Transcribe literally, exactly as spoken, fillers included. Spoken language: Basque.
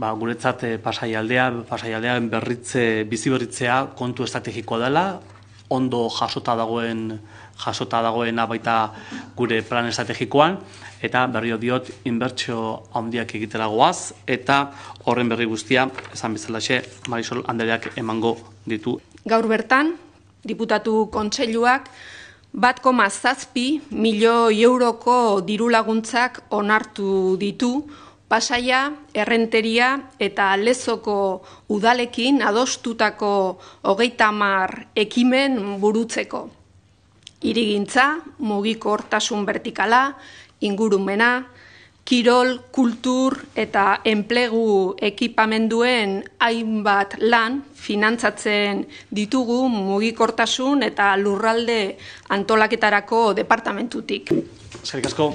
ba, guretzat pasaialdea, pasaialdean berritze, bizi berritzea kontu estrategikoa dela, ondo jasota dagoen jasota dagoena baita gure plan estrategikoan, eta berrio diot inbertsio handiak egitera goaz, eta horren berri guztia, esan bezalaxe, Marisol Andereak emango ditu. Gaur bertan, diputatu kontseiluak, bat koma zazpi milioi euroko diru laguntzak onartu ditu, Pasaia, Errenteria eta Lezoko udalekin adostutako hogeita hamar ekimen burutzeko. Hirigintza, mugikortasun vertikala, ingurumena, kirol, kultur eta enplegu ekipamenduen hainbat lan finantzatzen ditugu mugikortasun eta lurralde antolaketarako departamentutik. Eskerrik asko.